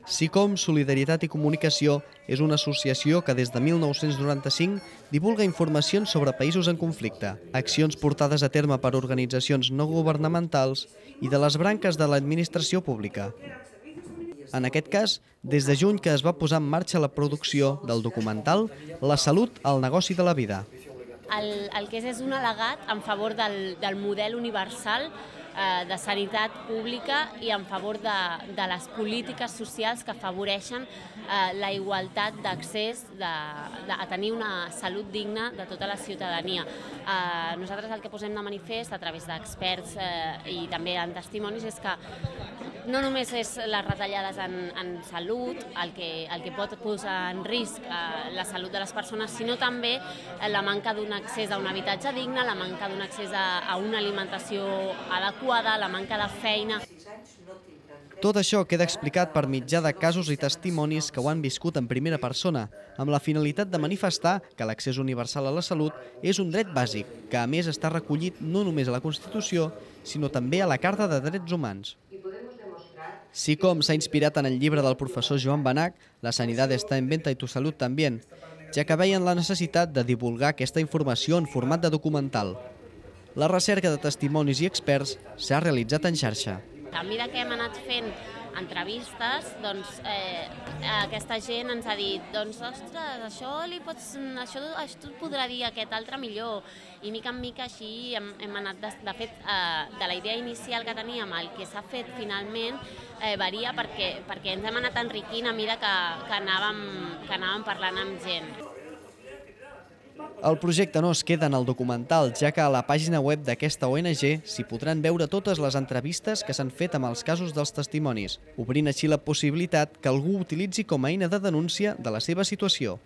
SICOM, Solidaritat i Comunicació és una associació que des de 1995 divulga informacions sobre països en conflicte, accions portades a terme per organitzacions no governamentals i de les branques de l'administració pública. En aquest cas, des de juny que es va posar en marxa la producció del documental La salut al negoci de la vida. El que és un al·legat en favor del model universal de sanitat pública i en favor de les polítiques socials que afavoreixen la igualtat d'accés a tenir una salut digna de tota la ciutadania. Nosaltres el que posem de manifest a través d'experts i també en testimonis és que no només és les retallades en salut el que pot posar en risc la salut de les persones, sinó també la manca d'un accés a un habitatge digne, la manca d'un accés a una alimentació adequada, la manca de feina. Tot això queda explicat per mitjà de casos i testimonis que ho han viscut en primera persona, amb la finalitat de manifestar que l'accés universal a la salut és un dret bàsic, que a més està recollit no només a la Constitució, sinó també a la Carta de Drets Humans. SICOM s'ha inspirat en el llibre del professor Joan Benach, La sanidad está en venta y tu salud también, ja que veien la necessitat de divulgar aquesta informació en format de documental. La recerca de testimonis i experts s'ha realitzat en xarxa. A mesura que hem anat fent entrevistes, aquesta gent ens ha dit ostres, això et podrà dir aquest altre millor. I mica en mica així hem anat, de fet, de la idea inicial que teníem, el que s'ha fet finalment varia perquè ens hem anat enriquint a mesura que anàvem parlant amb gent. El projecte no es queda en el documental, ja que a la pàgina web d'aquesta ONG s'hi podran veure totes les entrevistes que s'han fet amb els casos dels testimonis, obrint així la possibilitat que algú utilitzi com a eina de denúncia de la seva situació.